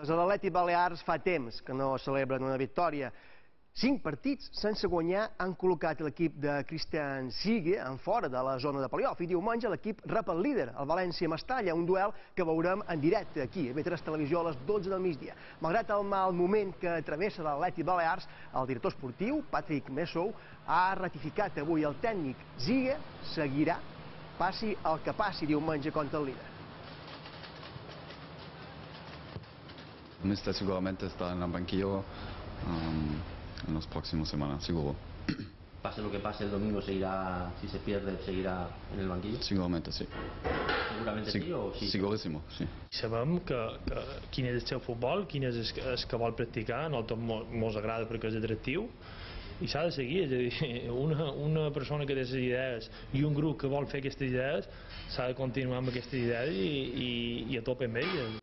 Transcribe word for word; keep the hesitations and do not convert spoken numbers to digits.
L'Atlètic Balears fa temps que no celebren una victòria. Cinc partits sense guanyar han col·locat l'equip de Christian Sigue en fora de la zona de play-off i diumenge l'equip rep el líder, el València Mestalla, un duel que veurem en directe aquí, a B tres Televisió, a les dotze del migdia. Malgrat el mal moment que travessa l'Atlètic Balears, el director esportiu, Patrick Messou, ha ratificat avui el tècnic Sigue seguirà, passi el que passi diumenge contra el líder. El míster seguramente está en el banquillo um, en las próximas semanas, seguro. Pase lo que pase el domingo, seguirá, si se pierde, seguirá en el banquillo? Seguramente sí. Seguramente sí, sí o sí? Segurísimo, sí. Sabem que, que quin és el seu futbol, quin és el, el que vol practicar, a nosaltres ens agrada perquè és atractiu i s'ha de seguir, és a dir, una, una persona que té les idees i un grup que vol fer aquestes idees s'ha de continuar amb aquestes idees i, i, i a tope amb elles.